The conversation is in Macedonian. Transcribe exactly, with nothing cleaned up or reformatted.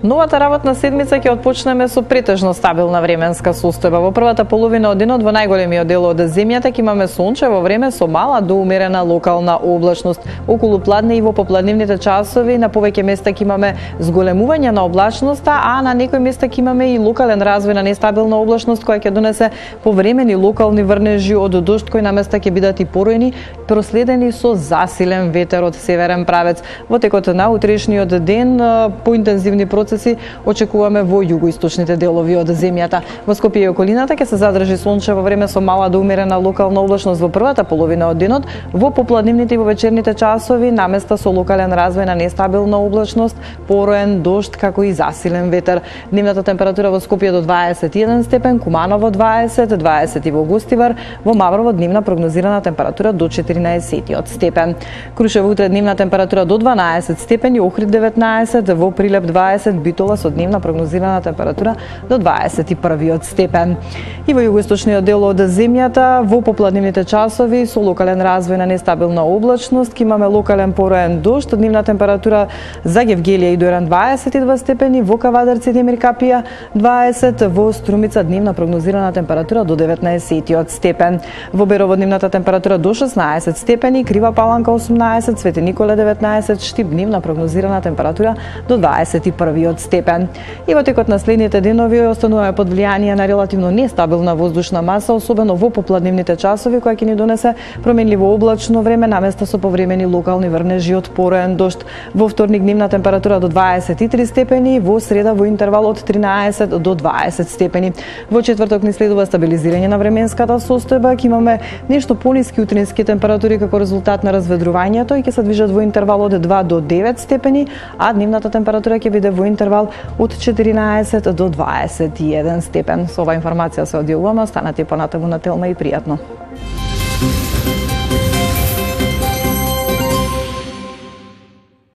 Новата работна седмица ќе отпочнеме со претежно стабилна временска состојба. Во првата половина од денот во најголемиот дел од земјата ќе имаме сончево време со мала до умерена локална облачност. Околу пладне и во попладневните часови на повеќе места ќе имаме зголемување на облачноста, а на некои места ќе имаме и локален развој на нестабилна облачност која ќе донесе повремени локални врнежи од дожд кои на места ќе бидат и поројни, проследени со засилен ветер од северен правец. Во текот на утрешниот ден поинтензивни процеси очекуваме во југоисточните делови од земјата. Во Скопје и околината ќе се задржи сончево време со мала до умерена локална облачност во првата половина од денот. Во попладневните и во вечерните часови наместа со локален развој на нестабилна облачност, пороен дожд како и засилен ветер. Дневната температура во Скопје до дваесет и еден степен, Куманово дваесет, дваесет и во Гостивар, во Маврово дневна прогнозирана температура до четиринаесет степен. Крушево утре дневна температура до дванаесет степени, Охрид деветнаесет, во Прилеп дваесет, Битола со дневна прогнозирана температура до дваесет и први степен. И во југоисточниот дел од земјата во попладневните часови со локален развој на нестабилна облачност ќе имаме локален пороен дожд, дневна температура за Гевгелија и Дојран дваесет и два степени, во Кавадарци и Демир Капија дваесет, во Струмица дневна прогнозирана температура до деветнаесет степен. Во Берово дневната температура до шеснаесет степени, Крива Паланка осумнаесет, Свети Николе деветнаесет, Штип дневна прогнозирана температура до дваесет и први степен. И во текот на следните денови остануваме под влијание на релативно нестабилна воздушна маса, особено во попладневните часови, која ќе ни донесе променливо облачно време наместо со повремени локални врнежи од пороен дожд. Во вторник дневна температура до дваесет и три степени, во среда во интервал од тринаесет до дваесет степени. Во четврток ни следува стабилизирање на временската состојба, ќе имаме нешто пониски утрински температури како резултат на разведрувањето и ќе се движат во интервал од два до девет степени, а дневната температура ќе биде во интервал од четиринаесет до дваесет и еден степен. Со оваа информација се одјавуваме, останете понатаму на Телма и пријатно.